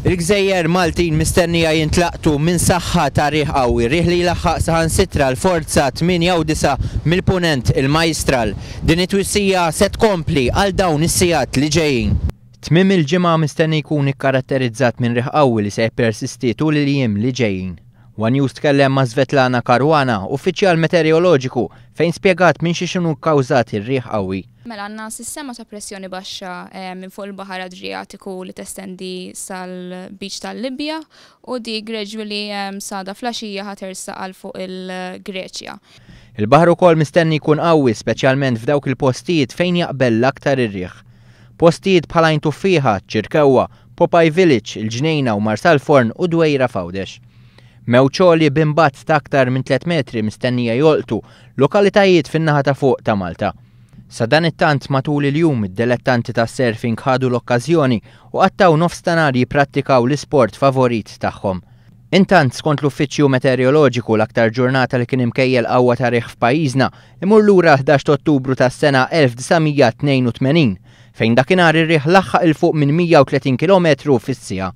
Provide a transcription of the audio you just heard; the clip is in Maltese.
Il-gżejjer Maltin mistennija jintlaqtu minn saħħa ta' riħ qawwi, riħ li jlaħħaq saħansitra l-forza 8 u 9 mill-Punent, il-Majjistral. Din it-twissija se tkompli għal dawn is-sigħat li ġejjin. Tmiem il-ġimgħa mistenni jkun ikkaratterizzat minn riħ qawwi li se jippersisti tul il-jiem li ġejjin. One News tkellem ma' Svetlana Caruana, uffiċjal meteoroloġiku, fejn spjegat minn xiex inhu kkawżat ir-riħ qawwi. Mela għandna sistema ta' pressjoni baxxa minn fuq il-Baħar Adrijatiku li testendi sal-beach tal-Libja u di gradually s'għada fl-għaxija ħa tersaq għal fuq il-Greċja. Il-baħar ukoll mistenni jkun qawwi speċjalment f'dawk il-postijiet fejn jaqbel l-aktar ir-riħ. Postijiet bħal Għajn Tuffieħa, Ċirkewwa, Popeye Village, il-Ġnejna u Marsalforn u Dwejra f'Għawdex. Mewġ għoli b'imbatt ta' aktar minn tliet metri mistennija jolqtu lokalitajiet fin-naħa ta' fuq ta' Malta. Sadanittant matul il-jum id-delettanti tas-surfing ħadu l-okkażjoni u qattgħu nofs ta' nhar jipprattikaw l-isport favorit tagħhom. Intant, skont l-Uffiċċju Meteoroloġiku l-aktar ġurnata li kien imkejjel qawwa ta' riħ f'pajjiżna imur lura l-11 ta' Ottubru tas-sena 1982, fejn dakinhar ir-riħ laħħaq 'il fuq minn 130 kilometru fis-siegħa.